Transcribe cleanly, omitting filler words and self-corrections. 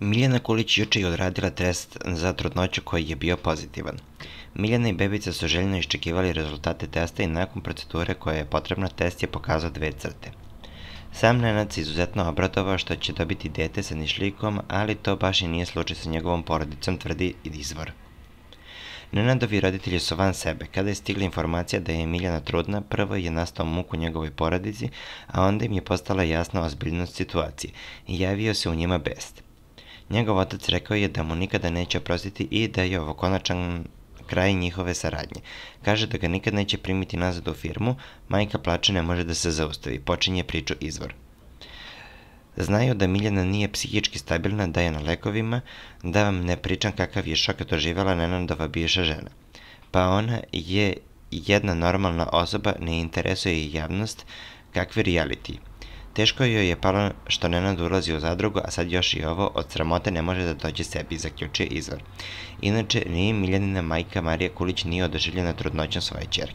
Miljana Kulić juče je odradila test za trudnoću koji je bio pozitivan. Miljana i bebica su željno iščekivali rezultate testa i nakon procedure koja je potrebna, test je pokazao 2 crte. Sam Nenad se izuzetno obradovao što će dobiti dete sa nišlijkom, ali to baš i nije slučaj sa njegovom porodicom, tvrdi izvor. Nenadovi roditelji su van sebe. Kada je stigla informacija da je Miljana trudna, prvo je nastao muk u njegovoj porodici, a onda im je postala jasna ozbiljnost situacije i javio se u njima bes. Njegov otac rekao je da mu nikada neće oprostiti i da je ovo konačan kraj njihove saradnje. Kaže da ga nikad neće primiti nazad u firmu, majka plače ne može da se zaustavi, počinje priču izvor. Znaju da Miljana nije psihički stabilna, da je na lekovima, da vam ne pričam kakav je šok doživjela Nenadova bivša žena. Pa ona je jedna normalna osoba, ne interesuje je javnost, kakvi reality. Teško joj je palo što Nenad ulazi u zadrugu, a sad još i ovo, od sramote ne može da dođe sebi, zaključuje izvor. Inače, ni Miljanina majka Marija Kulić nije oduševljena trudnoćom svoje ćerke.